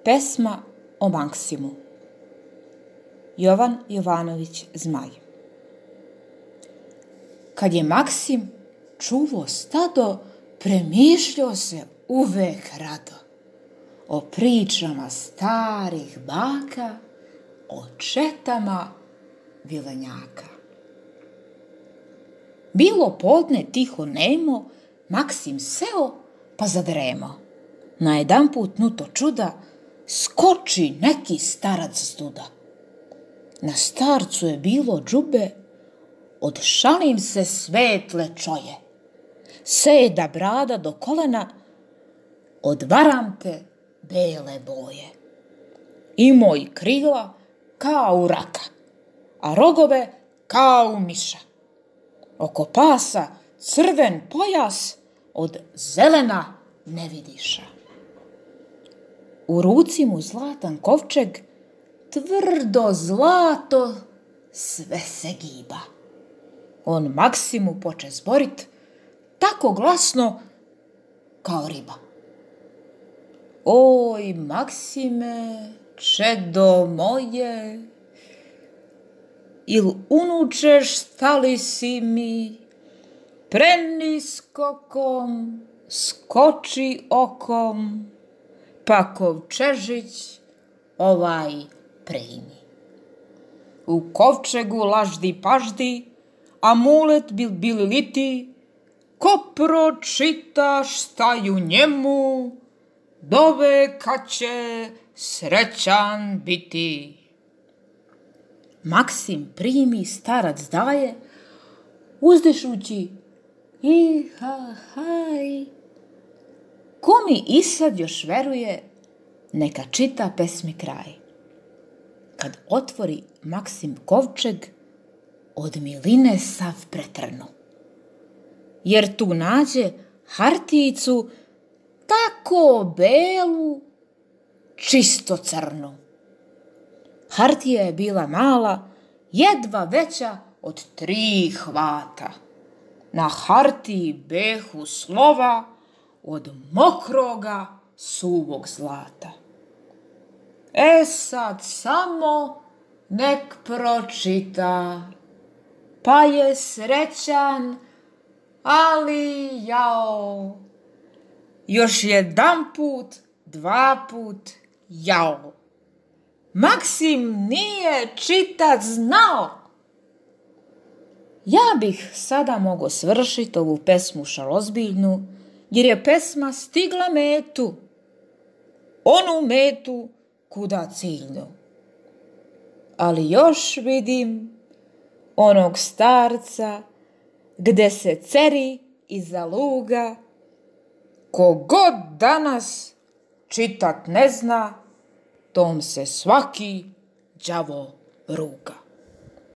Pesma o Maksimu. Jovan Jovanović Zmaj. Kad je Maksim čuvo stado, premišljao se uvek rado o pričama starih baka, o četama vilenjaka. Bilo podne tiho nemo, Maksim seo pa zadremo. Najedanput nuto čuda, skoči neki starac zduda. Na starcu je bilo džube, od šalim se svetle čoje. Seda brada do kolena, od varamte bele boje. Imao i krila kao u raka, a rogove kao u miša. Oko pasa crven pojas, od zelena ne vidiša. U ruci mu zlatan kovčeg, tvrdo zlato sve se giba. On Maksimu poče zborit, tako glasno kao riba. Oj, Maksime, čedo moje, il unučeš stali si mi, preniskokom skoči okom, pa kovčežić ovaj primi. U kovčegu laždi paždi, amulet bili liti, ko pročita šta je u njemu, doveka će srećan biti. Maksim primi, starac daje, uzdišući i ha haj. Ko mi i sad još veruje, neka čita pesmi kraj. Kad otvori Maksim kovčeg, od miline sav pretrnu. Jer tu nađe hartijicu tako belu, čisto crnu. Hartija je bila mala, jedva veća od 3 hvata. Na hartiji behu slova od mokroga suvog zlata. E sad samo nek pročita, pa je srećan, ali jao. Još jedanput, 2 put jao. Maksim nije čitat znao. Ja bih sada mogao svršiti ovu pesmu šalozbiljnu, jer je pesma stigla metu, onu metu kuda ciljnu. Ali još vidim onog starca gde se ceri iza luga, ko god danas čitat ne zna, tom se svaki đavo ruga.